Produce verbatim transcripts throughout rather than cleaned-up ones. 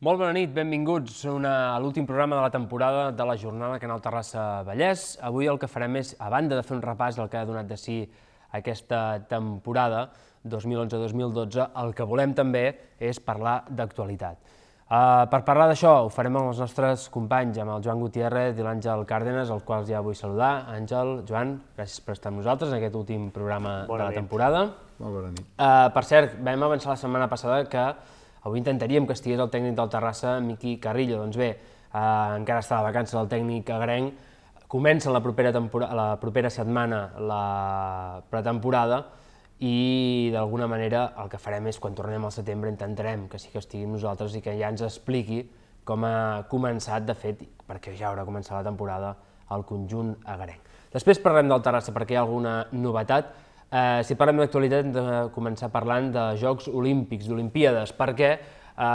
Molt bona nit, benvinguts a l'últim programa de la temporada de la jornada Canal Terrassa Vallès. Avui el que farem és, a banda de fer un repàs del que ha donat de si aquesta temporada dos mil onze dos mil dotze, el que volem també és parlar d'actualitat. Per parlar d'això ho farem amb els nostres companys, amb el Joan Gutiérrez i l'Àngel Cárdenas, els quals ja vull saludar. Àngel, Joan, gràcies per estar amb nosaltres en aquest últim programa de la temporada. Molt bona nit. Per cert, vam avançar la setmana passada que avui intentaríem que estigués el tècnic del Terrassa, Miqui Carrillo. Doncs bé, encara està de vacances el tècnic agrenc, comença la propera setmana la pretemporada i d'alguna manera el que farem és, quan tornem al setembre, intentarem que sí que estigui amb nosaltres i que ja ens expliqui com ha començat, de fet, perquè ja haurà començat la temporada, el conjunt agrenc. Després parlem del Terrassa perquè hi ha alguna novetat. Si parlem d'actualitat hem de començar parlant de Jocs Olímpics, d'Olimpíades, perquè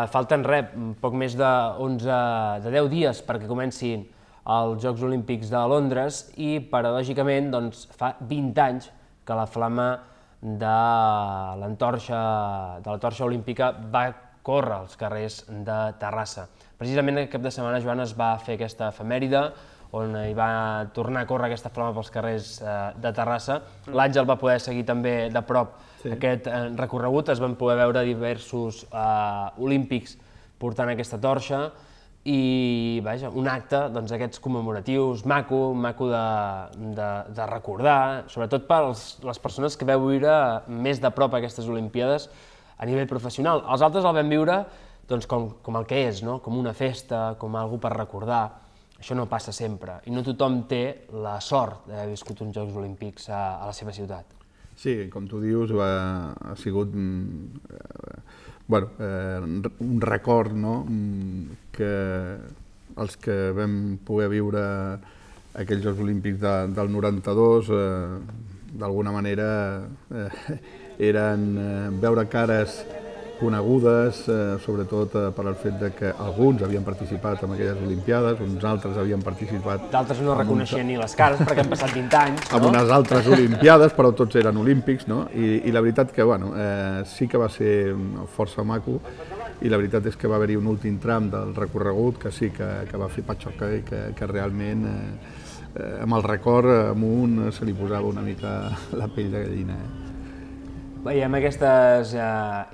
falten res, poc més de deu dies perquè comencin els Jocs Olímpics de Londres i, paradògicament, fa vint anys que la flama de la torxa olímpica va córrer als carrers de Terrassa. Precisament aquest cap de setmana, Joan, es va fer aquesta efemèride on hi va tornar a córrer aquesta flama pels carrers de Terrassa. L'Àngel va poder seguir també de prop aquest recorregut, es van poder veure diversos olímpics portant aquesta torxa i, vaja, un acte d'aquests commemoratius maco, maco de recordar, sobretot per les persones que veu viure més de prop aquestes Olimpíades a nivell professional. Els altres el vam viure com el que és, com una festa, com una cosa per recordar. Això no passa sempre, i no tothom té la sort d'haver viscut uns Jocs Olímpics a la seva ciutat. Sí, com tu dius, ha sigut un record que els que vam poder viure aquells Jocs Olímpics del noranta-dos, d'alguna manera, eren veure cares conegudes, sobretot per al fet que alguns havien participat en aquelles Olimpiades, uns altres havien participat... D'altres no reconeixien ni les cares perquè han passat vint anys, no? En unes altres Olimpiades, però tots eren olímpics, no? I la veritat que, bueno, sí que va ser força maco i la veritat és que va haver-hi un últim tram del recorregut que sí que va fer patxoca i que realment, amb el record amunt, se li posava una mica la pell de gallina. Veiem aquestes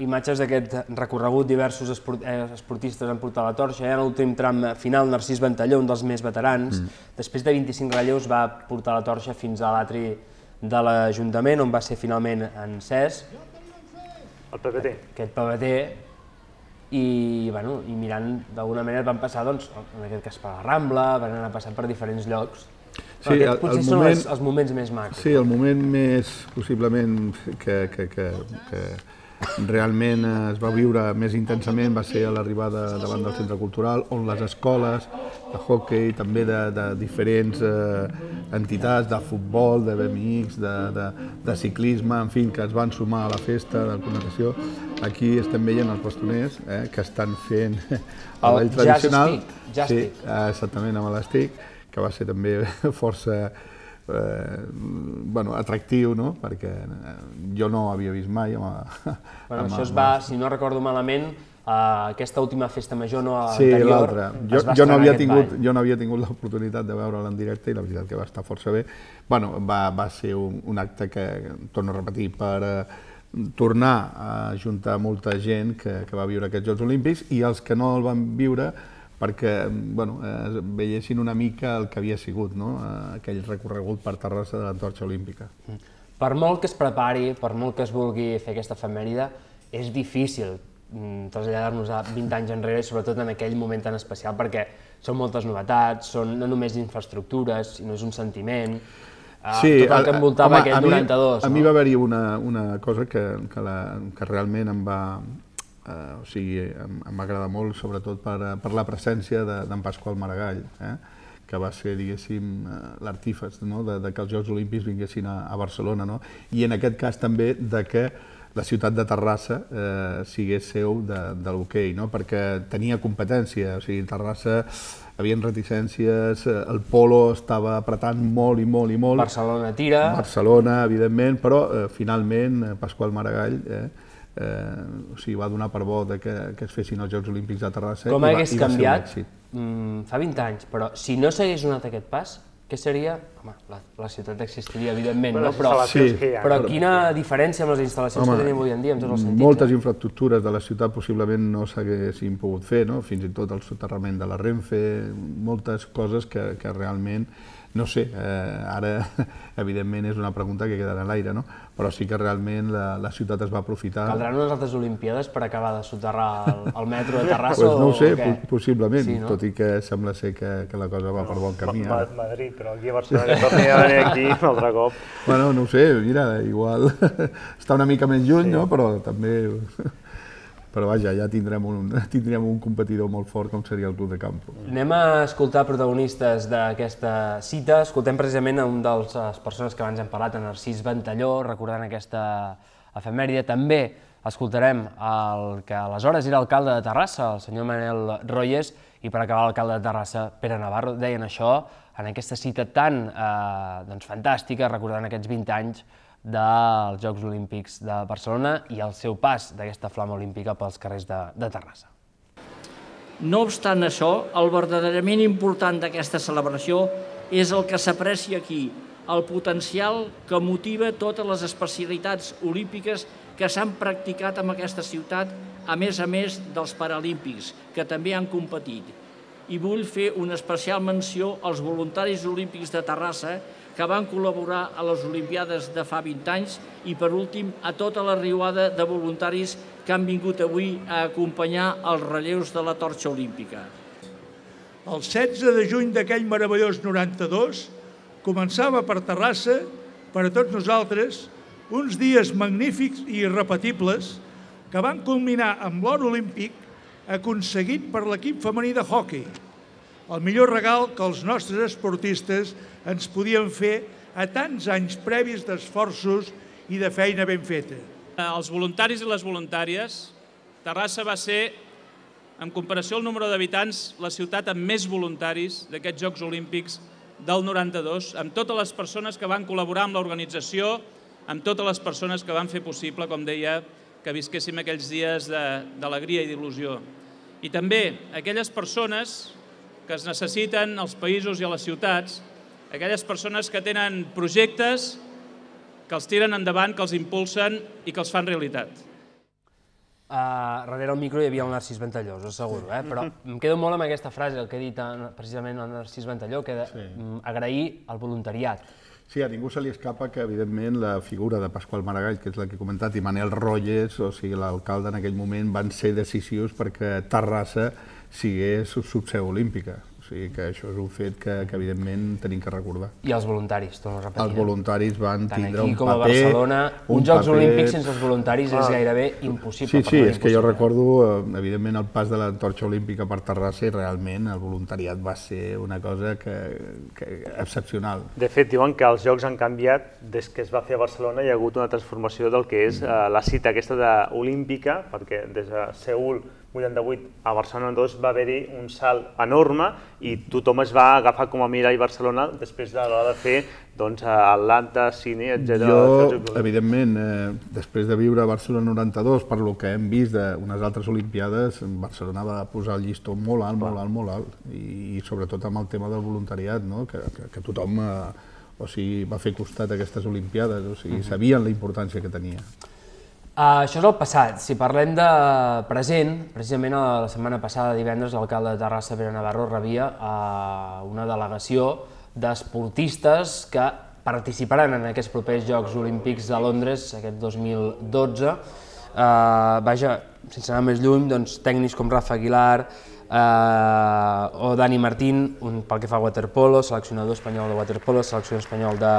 imatges d'aquest recorregut, diversos esportistes han portat la torxa, i en l'últim tram final Narcís Ventalló, un dels més veterans, després de vint-i-cinc relleus va portar la torxa fins a l'atri de l'Ajuntament, on va ser finalment encès. El P P T. Aquest P P T, i mirant, d'alguna manera van passar, en aquest cas per la Rambla, van anar passant per diferents llocs. Aquests potser són els moments més macos. Sí, el moment més, possiblement, que realment es va viure més intensament va ser a l'arribada davant del centre cultural, on les escoles de hoquei, també de diferents entitats, de futbol, de B M X, de ciclisme, en fi, que es van sumar a la festa de connotació. Aquí estem veient els bastoners que estan fent el ball tradicional. Sí, exactament, amb l'estic, que va ser també força atractiu, perquè jo no havia vist mai. Això es va, si no recordo malament, aquesta última festa major anterior es va estrenar aquest ball. Jo no havia tingut l'oportunitat de veure'l en directe i la veritat que va estar força bé. Va ser un acte que, torno a repetir, per tornar a ajuntar molta gent que va viure aquests Jocs Olímpics i els que no el van viure perquè veiessin una mica el que havia sigut aquell recorregut per Terrassa de l'antorxa olímpica. Per molt que es prepari, per molt que es vulgui fer aquesta efemèride, és difícil traslladar-nos a vint anys enrere, sobretot en aquell moment tan especial, perquè són moltes novetats, són no només infraestructures, sinó és un sentiment, tot el que envoltava aquell noranta-dos. A mi va haver-hi una cosa que realment em va... O sigui, em va agradar molt, sobretot per la presència d'en Pasqual Maragall, que va ser, diguéssim, l'artífex que els Jocs Olímpics vinguessin a Barcelona, i en aquest cas també que la ciutat de Terrassa sigués seu de l'hoquei, perquè tenia competència, o sigui, Terrassa hi havia reticències, el polo estava apretant molt i molt i molt. Barcelona tira. Barcelona, evidentment, però finalment Pasqual Maragall o sigui, va donar per bo que es fessin els Jocs Olímpics de Terrassa. Com hagués canviat fa vint anys, però si no s'hagués donat aquest pas, què seria? Home, la ciutat existiria, evidentment, no? Però quina diferència amb les instal·lacions que tenim avui en dia, en tots els sentits? Moltes infraestructures de la ciutat possiblement no s'haguessin pogut fer, fins i tot el soterrament de la Renfe, moltes coses que realment, no sé, ara evidentment és una pregunta que queda en l'aire, però sí que realment la ciutat es va aprofitar. Caldran unes altres Olimpíades per acabar de soterrar el metro de Terrassa o què? No ho sé, possiblement, tot i que sembla ser que la cosa va per bon camí. Madrid, però aquí a Barcelona que torni a venir aquí un altre cop. Bueno, no ho sé, mira, igual està una mica més lluny, però també... Però vaja, ja tindrem un competidor molt fort com seria el Club de Campo. Anem a escoltar protagonistes d'aquesta cita. Escoltem precisament a un de les persones que abans hem parlat, en Narcís Ventalló, recordant aquesta efemèride. També escoltarem el que aleshores era alcalde de Terrassa, el senyor Manel Royes, i per acabar l'alcalde de Terrassa, Pere Navarro. Deien això en aquesta cita tan fantàstica, recordant aquests vint anys dels Jocs Olímpics de Barcelona i el seu pas d'aquesta flama olímpica pels carrers de Terrassa. No obstant això, el verdaderament important d'aquesta celebració és el que s'aprecia aquí, el potencial que motiva totes les especialitats olímpiques que s'han practicat en aquesta ciutat, a més a més dels paralímpics, que també han competit. I vull fer una especial menció als voluntaris olímpics de Terrassa que van col·laborar a les Olimpiades de fa vint anys i, per últim, a tota la riuada de voluntaris que han vingut avui a acompanyar els relleus de la torxa olímpica. El setze de juny d'aquell meravellós noranta-dos començava per Terrassa, per a tots nosaltres, uns dies magnífics i irrepetibles que van culminar amb l'or olímpic aconseguit per l'equip femení de hoquei, el millor regal que els nostres esportistes ens podien fer a tants anys previs d'esforços i de feina ben feta. Els voluntaris i les voluntàries, Terrassa va ser, en comparació al número d'habitants, la ciutat amb més voluntaris d'aquests Jocs Olímpics del noranta-dos, amb totes les persones que van col·laborar amb l'organització, amb totes les persones que van fer possible, com deia, que visquéssim aquells dies d'alegria i d'il·lusió. I també aquelles persones que es necessiten als països i a les ciutats, aquelles persones que tenen projectes, que els tiren endavant, que els impulsen i que els fan realitat. Darrere el micro hi havia el Narcís Ventalló, us asseguro, però em quedo molt amb aquesta frase, el que ha dit precisament el Narcís Ventalló, que és agrair el voluntariat. Sí, a ningú se li escapa que, evidentment, la figura de Pasqual Maragall, que és la que he comentat, i Manel Royes, o sigui, l'alcalde en aquell moment, van ser decisius perquè Terrassa sigués subseu olímpica. O sigui que això és un fet que, evidentment, tenim que recordar. I els voluntaris, torno a repetir. Els voluntaris van tindre un paper... Tant aquí com a Barcelona, uns Jocs Olímpics sense els voluntaris és gairebé impossible. Sí, sí, és que jo recordo, evidentment, el pas de la torxa olímpica per Terrassa i realment el voluntariat va ser una cosa excepcional. De fet, diuen que els Jocs han canviat des que es va fer a Barcelona, hi ha hagut una transformació del que és la cita aquesta olímpica, perquè des de Seül vuitanta-vuit a Barcelona dos va haver-hi un salt enorme i tothom es va agafar com a mirall Barcelona després de l'hora de fer Atlanta, Sydney, etcètera. Jo, evidentment, després de viure a Barcelona noranta-dos, per lo que hem vist d'unes altres Olimpiades, Barcelona va posar el llistó molt alt, molt alt, molt alt, i sobretot amb el tema del voluntariat, que tothom va fer costat a aquestes Olimpiades, o sigui, sabien la importància que tenia. Això és el passat. Si parlem de present, precisament la setmana passada, divendres, l'alcalde de Terrassa, Pere Navarro, rebia una delegació d'esportistes que participaran en aquests propers Jocs Olímpics de Londres aquest dos mil dotze. Vaja, sense anar més lluny, tècnics com Rafa Aguilar o Dani Martín, pel que fa a waterpolo, seleccionador espanyol de waterpolo, seleccionador espanyol de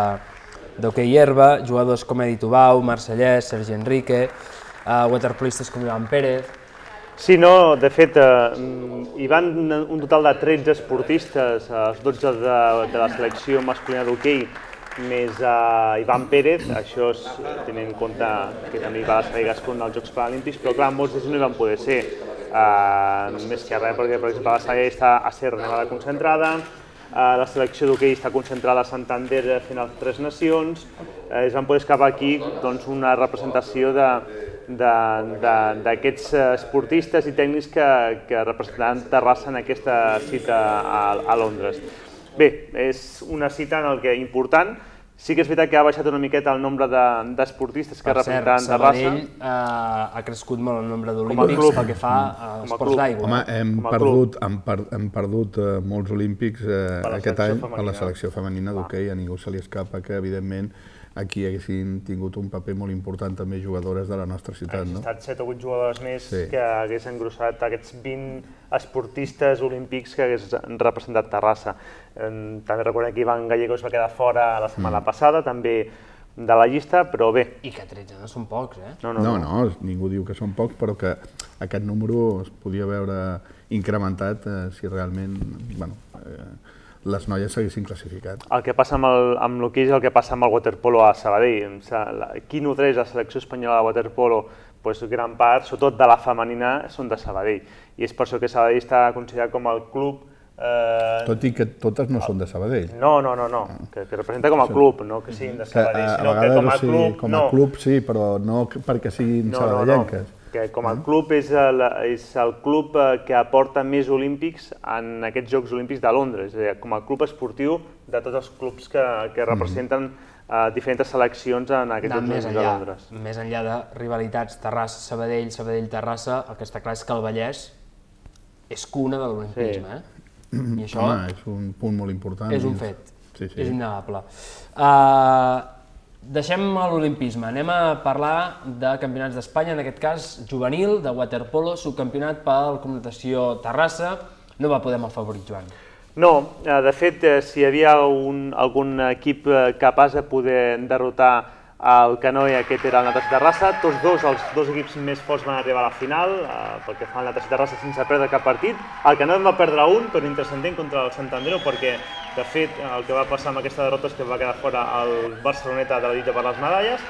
d'hoquei herba, jugadors com Edi Tubau, Marcellès, Sergi Enrique, waterpolistes com Ivan Pérez... Sí, no, de fet, hi van un total de tretze esportistes, els dotze de la selecció masculina d'hoquei, més Ivan Pérez, això és tenint en compte que també va ser Gascon als Jocs Paralímpics, però clar, molts d'ells no hi van poder ser, més que res perquè, per exemple, la Saga està a ser Nevada concentrada, la selecció d'hoquei està concentrada a Santander fent les Tres Nacions, es van poder escapar aquí una representació d'aquests esportistes i tècnics que representaran Terrassa en aquesta cita a Londres. Bé, és una cita en què important. Sí que és veritat que ha baixat una miqueta el nombre d'esportistes que representaran Terrassa. Per cert, Sabadell ha crescut molt el nombre d'olímpics pel que fa a esports d'aigua. Home, hem perdut molts olímpics aquest any a la selecció femenina d'hoquei. A ningú se li escapa que, evidentment, aquí haguessin tingut un paper molt important també jugadores de la nostra ciutat. Han estat set o vuit jugadores més que hagués engrossat aquests vint esportistes olímpics que hagués representat Terrassa. També recordem que Ivan Gallego es va quedar fora la setmana passada, també de la llista, però bé. I que tretze no són pocs, eh? No, no, ningú diu que són pocs, però que aquest número es podia veure incrementat si realment, bueno, les noies s'haguessin classificat. El que passa amb l'hoquei és el que passa amb el waterpolo a Sabadell. Qui nodreix la selecció espanyola de waterpolo, gran part, sobretot de la femenina, són de Sabadell. I és per això que Sabadell està considerat com el club... Tot i que totes no són de Sabadell. No, no, no, que representa com a club, no que siguin de Sabadell, sinó que com a club... Com a club sí, però no perquè siguin sabadellenques. Que com a club és el club que aporta més olímpics en aquests Jocs Olímpics de Londres, com a club esportiu de tots els clubs que representen diferents seleccions en aquests Jocs Olímpics de Londres. Més enllà de rivalitats Terrassa-Sabadell, Sabadell-Terrassa, el que està clar és que el Vallès és cuna de l'olimpisme. Home, és un punt molt important. És un fet, és innegable. Deixem l'olimpisme, anem a parlar de campionats d'Espanya, en aquest cas juvenil, de waterpolo, subcampionat pel Club Natació Terrassa. No va poder amb el favorit, Joan. No, de fet, si hi havia algun equip capaç de poder derrotar el Canoe, aquest era el Natació Terrassa. Tots dos, els dos equips més forts van arribar a la final, perquè fa el Natació Terrassa sense perdre cap partit. El Canoe en va perdre un, però intrascendent contra el Santandreu, perquè de fet el que va passar amb aquesta derrota és que va quedar fora el Barceloneta de la lluita per les medalles,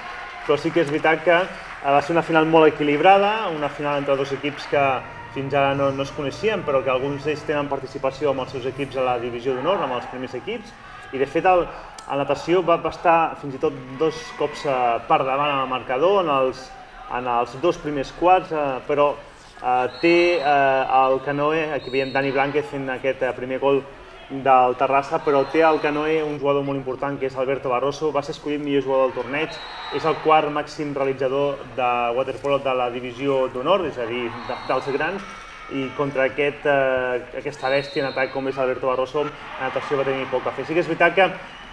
però sí que és veritat que va ser una final molt equilibrada, una final entre dos equips que fins ara no es coneixien, però que alguns d'ells tenen participació amb els seus equips a la divisió d'honor, amb els primers equips, i de fet el natació va estar fins i tot dos cops per davant en el marcador, en els dos primers quarts, però té el Canoe, aquí veiem Dani Blanquez fent aquest primer gol del Terrassa, però té al Canoe un jugador molt important que és Alberto Barroso, va ser escollit millor jugador del torneig, és el quart màxim realitzador de waterpolo de la divisió d'honor, és a dir, dels grans, i contra aquesta bèstia en atac com és Alberto Barroso, la natació va tenir poc a fer. Sí que és veritat que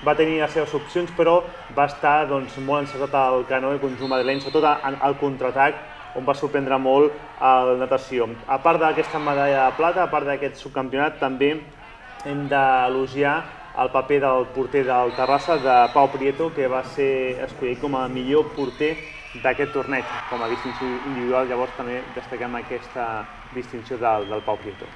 va tenir les seves opcions, però va estar molt encertat al Canoe, conjunt madrileny, sobretot al contraatac, on va sorprendre molt la natació. A part d'aquesta medalla de plata, a part d'aquest subcampionat, també hem d'elogiar el paper del porter del Terrassa, de Pau Prieto, que va ser escollit com a millor porter d'aquest torneig, com a distinció individual. Llavors també destaquem aquesta distinció del Pau Prieto.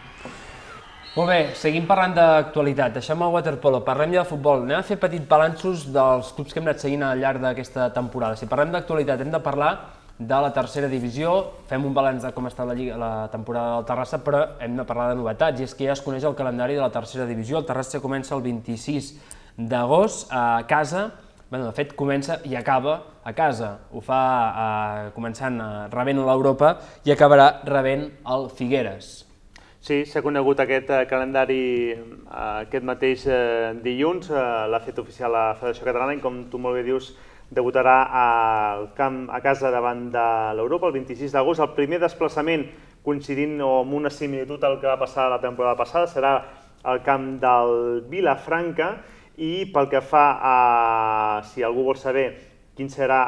Molt bé, seguim parlant d'actualitat. Deixem el waterpolo, parlem ja de futbol. Anem a fer petits balanços dels clubs que hem anat seguint al llarg d'aquesta temporada. Si parlem d'actualitat, hem de parlar de la tercera divisió, fem un balanç de com està la temporada del Terrassa, però hem de parlar de novetats, i és que ja es coneix el calendari de la tercera divisió. El Terrassa comença el vint-i-sis d'agost a casa, bé, de fet comença i acaba a casa, ho fa començant rebent l'Europa i acabarà rebent el Figueres. Sí, s'ha conegut aquest calendari aquest mateix dilluns, l'ha fet oficial la Federació Catalana i, com tu molt bé dius, debutarà a casa davant de l'Europa el vint-i-sis d'agost. El primer desplaçament, coincidint amb una similitud al que va passar la temporada passada, serà al camp del Vilafranca, i pel que fa a, si algú vol saber quin serà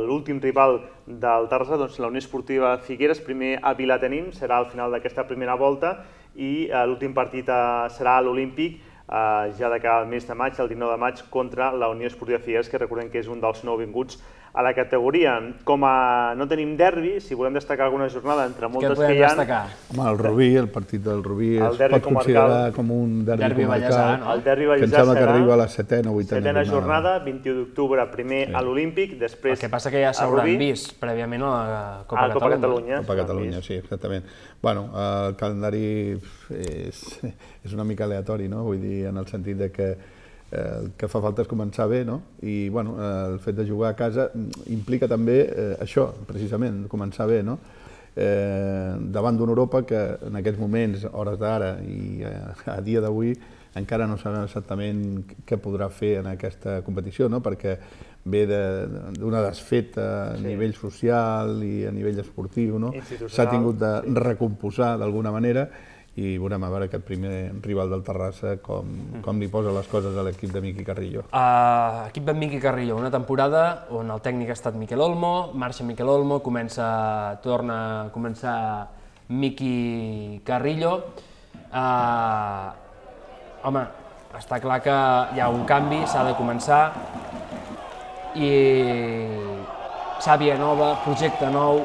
l'últim rival del Terrassa, doncs la Unió Esportiva Figueres, primer a Vilatenim, serà al final d'aquesta primera volta, i l'últim partit serà a l'Olímpic, ja de cara al mes de maig, el dinou de maig, contra la Unió Esportiva Figueres, que recordem que és un dels nouvinguts a la categoria. Com a no tenim derbi, si volem destacar alguna jornada entre moltes que hi ha... Home, el Rubí, el partit del Rubí es pot considerar com un derbi comarcal, el derbi que em sembla que arriba a la setena o vuitena jornada, vint-i-u d'octubre, primer a l'Olímpic, després a Rubí. El que passa que ja s'hauran vist prèviament a la Copa Catalunya. Copa Catalunya, sí, exactament. Bueno, el calendari és una mica aleatori, no? Vull dir, i en el sentit de que el que fa falta és començar bé, no? I bueno, el fet de jugar a casa implica també això, precisament, començar bé, no? Davant d'una Europa que en aquests moments, hores d'ara i a dia d'avui, encara no sabem exactament què podrà fer en aquesta competició, no? Perquè ve d'una desfeta a nivell social i a nivell esportiu, no? S'ha tingut de recomposar d'alguna manera i veurem a veure aquest primer rival del Terrassa com li posa les coses a l'equip de Miqui Carrillo. Equip de Miqui Carrillo, una temporada on el tècnic ha estat Miquel Olmo, marxa Miquel Olmo, comença, torna a començar Miqui Carrillo. Home, està clar que hi ha un canvi, s'ha de començar i sàvia nova, projecte nou,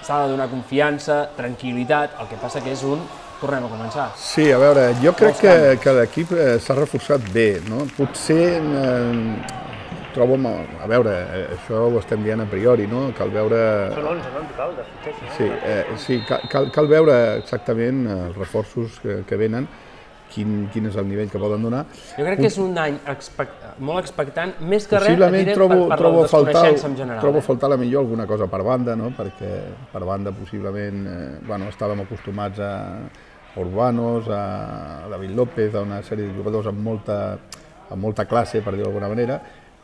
s'ha de donar confiança, tranquil·litat, el que passa que és un tornem a començar. Sí, a veure, jo crec que, que l'equip s'ha reforçat bé, no? Potser eh, trobo, a veure, això ho estem dient a priori, no? Cal veure... Són onze, no, en total, de fitxes? Sí, eh, sí cal, cal veure exactament els reforços que, que venen, Quin, quin és el nivell que poden donar. Jo crec que és un any expect, molt expectant, més que res, possiblement trobo, per, per trobo la desconeixença en general. Trobo eh? faltar la millor alguna cosa per banda, no? Perquè per banda possiblement eh, bueno, estàvem acostumats a Urbanos, a David López, a una sèrie de jugadors amb molta, amb molta classe, per dir-ho d'alguna manera.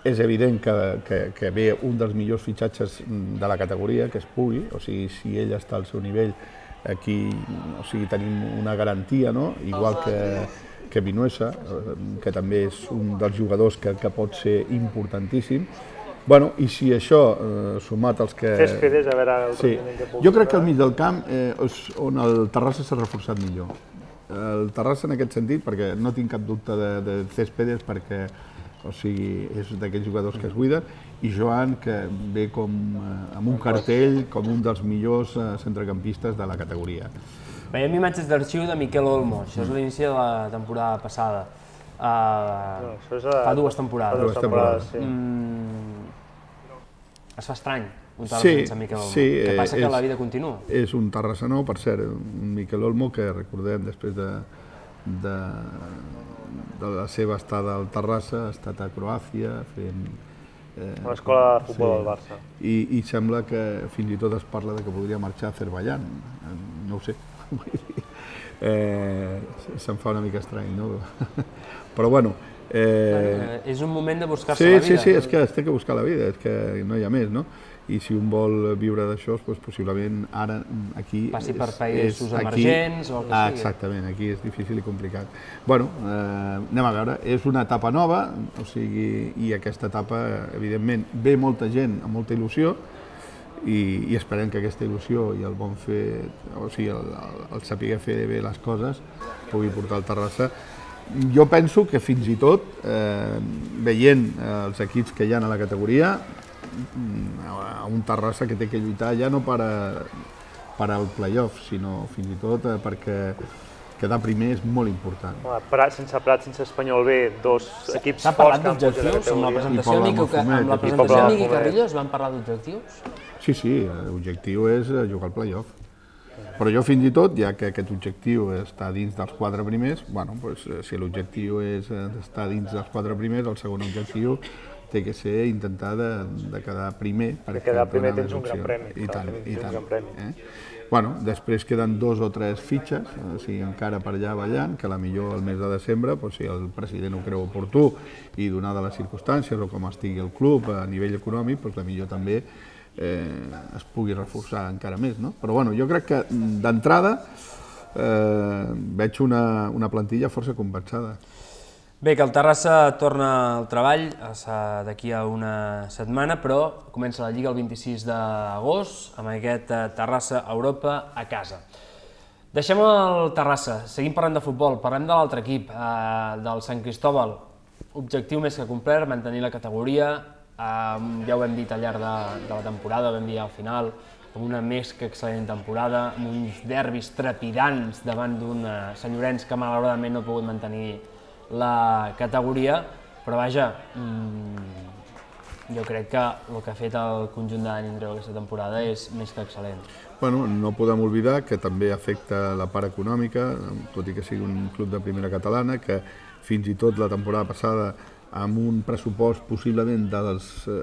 És evident que, que, que ve un dels millors fitxatges de la categoria, que es pugui, o sigui, si ell està al seu nivell, aquí o sigui, tenim una garantia, no? Igual que, que Vinuesa, que també és un dels jugadors que, que pot ser importantíssim. Bueno, i si això, eh, sumat als que... Céspedes, a veure el sí. que puc... Jo crec que al mig del camp eh, és on el Terrassa s'ha reforçat millor. El Terrassa en aquest sentit, perquè no tinc cap dubte de, de Céspedes, perquè o sigui, és d'aquells jugadors que es buiden, i Joan, que ve com, eh, amb un cartell com un dels millors eh, centrecampistes de la categoria. Veiem imatges d'arxiu de Miquel Olmo, això és l'inici de la temporada passada. Uh, no, això és a... Fa dues temporades. Fa dues temporades, sí. Mm, es fa estrany un Terrassa sí, sense Miquel Olmo. Sí, Què passa? és, que la vida continua. És un Terrassa nou, per cert, un Miquel Olmo que recordem després de, de, de la seva estada al Terrassa, ha estat a Croàcia fent... Eh, l'escola de futbol sí. del Barça. I, I sembla que fins i tot es parla de que podria marxar a Azerbaiyán, no ho sé. eh, se'm fa una mica estrany, no? Però bueno... Eh, bueno, és un moment de buscar-se sí, la vida. Sí, sí, és que es té que buscar la vida, és que no hi ha més, no? I si un vol viure d'això, doncs possiblement ara aquí... Passi per països emergents o el que ah, sigui. Exactament, aquí és difícil i complicat. Bueno, eh, anem a veure, és una etapa nova, o sigui, i aquesta etapa, evidentment, ve molta gent amb molta il·lusió, i, i esperem que aquesta il·lusió i el bon fer, o sigui, el, el, el saber fer bé les coses, pugui portar al Terrassa. Jo penso que fins i tot, eh, veient els equips que hi ha a la categoria, a un Terrassa que té que lluitar ja no per, a, per al play-off, sinó fins i tot perquè quedar primer és molt important. Prat, sense Prat, sense Espanyol B, dos equips forts. S'ha parlat d'objectius? Amb la presentació de Miqui Carrillo es van parlar d'objectius? Sí, sí, l'objectiu és jugar al play-off. Però jo fins i tot, ja que aquest objectiu està dins dels quatre primers, bueno, doncs, si l'objectiu és estar dins dels quatre primers, el segon objectiu té que ser intentar de, de quedar primer. De quedar primer tens un gran premi. I tant, i tant. Eh? Bueno, després queden dos o tres fitxes, o sigui, encara per allà ballant, que a la millor el mes de desembre, doncs, si el president ho creu oportú i donada les circumstàncies o com estigui el club a nivell econòmic, doncs la millor també eh, es pugui reforçar encara més, no? Però bueno, jo crec que d'entrada eh, veig una, una plantilla força compensada. Bé, que el Terrassa torna al treball d'aquí a una setmana, però comença la Lliga el vint-i-sis d'agost amb aquest Terrassa Europa a casa. Deixem el Terrassa, seguim parlant de futbol, parlem de l'altre equip, del Sant Cristóbal. Objectiu més que complert, mantenir la categoria, ja ho hem dit al llarg de la temporada, vam dir al final, amb una més que excel·lent temporada, amb uns derbis trepidants davant d'un senyorencs que malauradament no ha pogut mantenir la categoria, però vaja, mmm, jo crec que el que ha fet el conjunt de Dani Andreu aquesta temporada és més que excel·lent. Bueno, no podem oblidar que també afecta la part econòmica, tot i que sigui un club de primera catalana, que fins i tot la temporada passada amb un pressupost possiblement dels eh,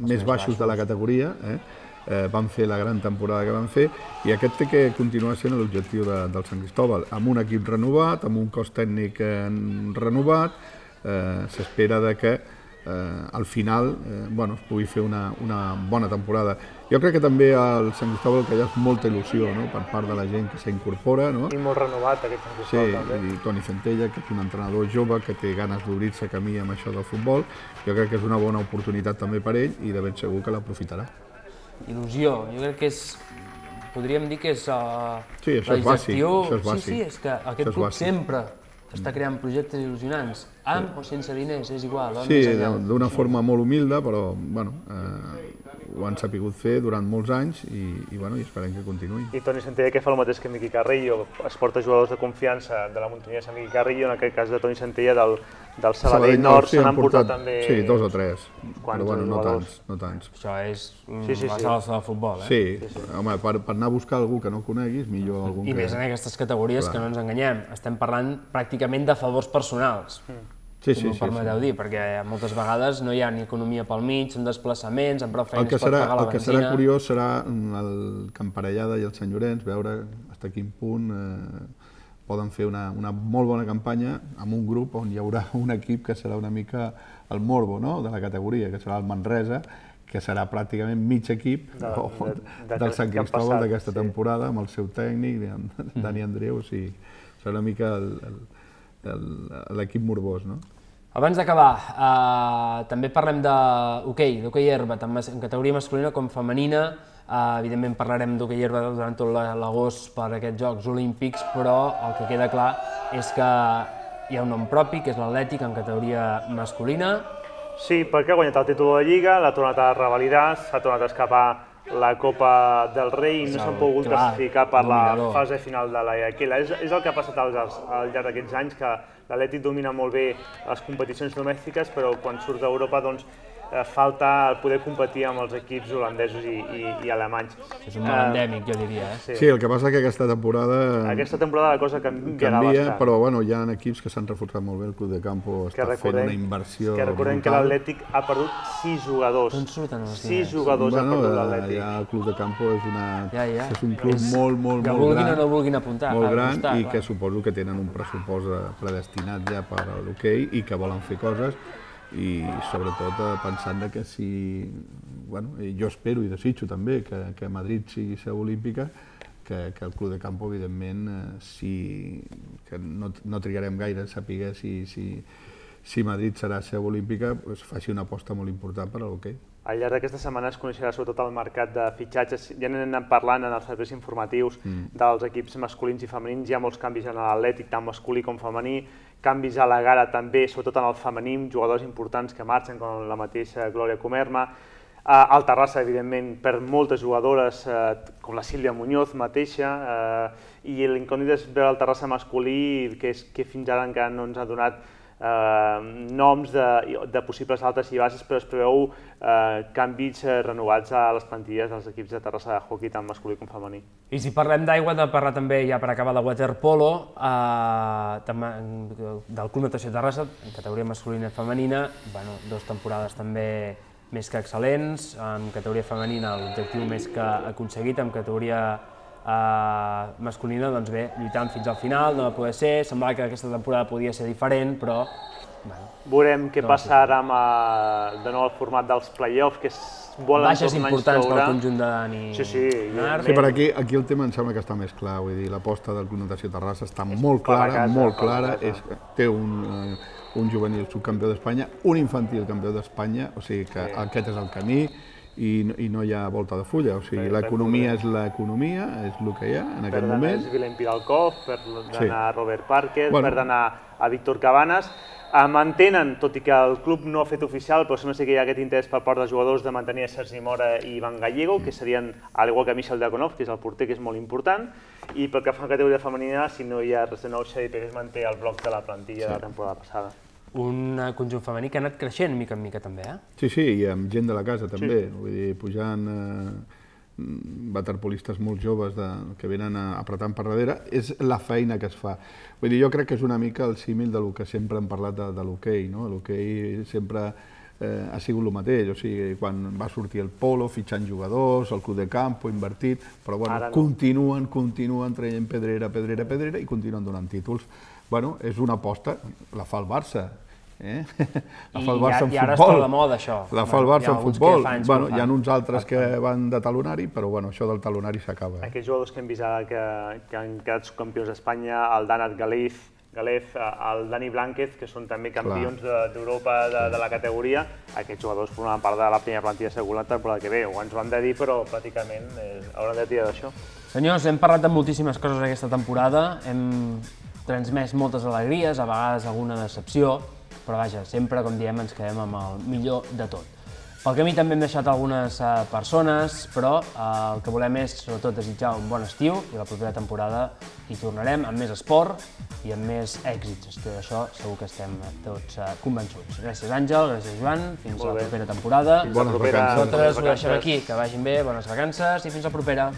més baixos de la categoria, eh, eh, van fer la gran temporada que van fer, i aquest té que continuar sent l'objectiu de, del Sant Cristóbal, amb un equip renovat, amb un cos tècnic eh, renovat, eh, s'espera de que eh, al final eh, bueno, es pugui fer una, una bona temporada. Jo crec que també al Sant Cristóbal que hi ha molta il·lusió, no?, per part de la gent que s'incorpora. No? I molt renovat aquest Sant Cristóbal sí, també. Sí, i Toni Centella, que és un entrenador jove que té ganes d'obrir-se camí amb això del futbol. Jo crec que és una bona oportunitat també per ell i de ben segur que l'aprofitarà. Il·lusió, jo crec que és... podríem dir que és uh, sí, això la és bàsic, gestió... això és bàsic. Sí, sí, és que aquest club sempre està creant projectes il·lusionants, amb o sense diners, és igual. Sí, d'una forma molt humilde, però bueno, eh, ho han sapigut fer durant molts anys i, i, bueno, i esperem que continuï. I Toni Centella, que fa el mateix que Miqui Carrillo, es porta jugadors de confiança de la muntanyesa Miqui Carrillo, en aquest cas de Toni Centella del, del Sabadell Nord, se n'han portat també... Sí, dos o tres, Quants però bueno, no jugadors? tants, no tants. Això és Sí, sí, la sí. salsa del futbol, eh? Sí, sí, sí. Home, per, per anar a buscar algú que no coneguis, millor algun I que... més en aquestes categories, Clar. que no ens enganyem, estem parlant pràcticament de favors personals. Sí, si sí, m'ho sí, permeteu sí. dir, perquè moltes vegades no hi ha ni economia pel mig, són desplaçaments, amb prou El feines que, per serà, pagar la el que benzina... serà curiós serà el Camparellada i el Sant Llorenç, veure fins a quin punt eh, poden fer una, una molt bona campanya amb un grup on hi haurà un equip que serà una mica el morbo, no?, de la categoria, que serà el Manresa, que serà pràcticament mig equip de, de, de, de, del Sant Cristóbal d'aquesta sí. temporada, amb el seu tècnic, Dani Andreu, o sigui, serà una mica l'equip morbós, no? Abans d'acabar, eh, també parlem d'hoquei, d'hoquei herba, tant en categoria masculina com femenina. Eh, evidentment parlarem d'hoquei herba durant tot l'agost per aquests Jocs Olímpics, però el que queda clar és que hi ha un nom propi, que és l'Atlètic, en categoria masculina. Sí, perquè ha guanyat el títol de Lliga, l'ha tornat a revalidar, s'ha tornat a escapar la Copa del Rei i no s'han pogut clar, classificar per la dominador. fase final de la Iaquila. És, és el que ha passat al, al llarg d'aquests anys, que l'Atlètic domina molt bé les competicions domèstiques, però quan surt d'Europa doncs, eh, falta poder competir amb els equips holandesos i, i, i alemanys. És un mal endèmic, jo diria. Eh? Sí. Sí, el que passa que aquesta temporada Aquesta temporada la cosa canviarà canvia, bastant. però bueno, hi ha equips que s'han reforçat molt bé, el Club de Campo està fent una inversió que recordem que brutal. l'Atlètic ha perdut sis jugadors. D'on surten els Sis diners? jugadors ha Bueno, perdut eh, l'Atlètic. ja el Club de Campo és, una, Ja, ja. és un club És molt, molt, que molt vulguin gran, o no vulguin apuntar, molt a gran apostar, i clar. que suposo que tenen un pressupost eh, predestinat ja per a l'hoquei i que volen fer coses i sobretot eh, pensant de que si, bueno, jo espero i desitjo també que, que Madrid sigui seu olímpica, que, que el Club de Campo, evidentment, eh, si, que no, no trigarem gaire a saber si, si, si Madrid serà seu olímpica, pues, faci una aposta molt important per a l'hoquei. Al llarg d'aquesta setmana es coneixerà sobretot el mercat de fitxatges. Ja n'hem anat parlant en els serveis informatius mm. dels equips masculins i femenins. Hi ha molts canvis en l'Atlètic, tant masculí com femení. Canvis a la gara també, sobretot en el femení, jugadors importants que marxen, com la mateixa Glòria Comerma. El Terrassa, evidentment, perd moltes jugadores, com la Sílvia Muñoz mateixa, i l'incògnit és veure el Terrassa masculí, que, és, que fins ara encara no ens ha donat Eh, noms de, de possibles altes i bases, però es preveu eh, canvis eh, renovats a les plantilles dels equips de Terrassa de hoquei, tant masculí com femení. I si parlem d'aigua, hem de parlar també, ja per acabar, de waterpolo, eh, del Club Natació Terrassa, en categoria masculina i femenina. Bueno, dues temporades també més que excel·lents, en categoria femenina l'objectiu més que aconseguit, en categoria Uh, masculina, doncs bé, lluitant fins al final, no va poder ser, semblava que aquesta temporada podia ser diferent, però... Bueno, veurem què no passa ara amb uh, de nou el format dels play-off, que es volen baixes importants pel conjunt de Dani. Sí, sí. Sí, per aquí, aquí el tema em sembla que està més clar, vull dir, l'aposta del Club Natació Terrassa està molt clara, molt clara, és, té un, uh, un juvenil subcampió d'Espanya, un infantil campió d'Espanya, o sigui que sí. Aquest és el camí, I, i no hi ha volta de fulla, o sigui, l'economia és l'economia, és el que hi ha en aquest moment. Per d'anar a Vilem Piralkov, per d'anar sí. a Robert Parker, bueno. per d'anar a Víctor Cabanes. Eh, mantenen, tot i que el club no ha fet oficial, però sembla que hi ha aquest interès per part dels jugadors de mantenir a Sergi Mora i Ivan Gallego, que serien, al igual que Michel Diakonov, que és el porter, que és molt important, i pel que fa a la categoria femenina, si no hi ha res de nou, Xavi Pérez manté el bloc de la plantilla sí. de la temporada passada. un conjunt femení que ha anat creixent mica en mica també, eh? Sí, sí, i amb gent de la casa també, vull dir, pujant waterpolistes molt joves que venen apretant per darrere, és la feina que es fa. Vull dir, jo crec que és una mica el símil del que sempre hem parlat de l'hoquei, no? L'hoquei sempre ha sigut el mateix, o sigui, quan va sortir el polo, fitxant jugadors, el club de campo, invertit, però bueno, continuen, continuen traient pedrera, pedrera, pedrera i continuen donant títols. Bueno, és una aposta, la fa el Barça, eh? La fa el Barça en futbol. I ara està de moda, això. La fa el Barça en futbol. Bueno, hi ha uns altres que van de talonari, però bueno, això del talonari s'acaba. Aquests jugadors que hem vist ara que han quedat campions d'Espanya, el Danat Galez, Galez, el Dani Blánquez, que són també campions d'Europa de la categoria, aquests jugadors formaven part de la primera plantilla segur la temporada que ve, o ens ho han de dir, però pràcticament hauran de tirar d'això. Senyors, hem parlat de moltíssimes coses aquesta temporada, hem transmès moltes alegries, a vegades alguna decepció, però vaja, sempre, com diem, ens quedem amb el millor de tot. Pel camí també hem deixat algunes persones, però el que volem és, sobretot, desitjar un bon estiu i la propera temporada hi tornarem amb més esport i amb més èxits. D'això segur que estem tots convençuts. Gràcies, Àngel, gràcies, Joan, fins a la propera temporada. Bones vacances. Nosaltres ho deixem aquí, que vagin bé, bones vacances i fins la propera.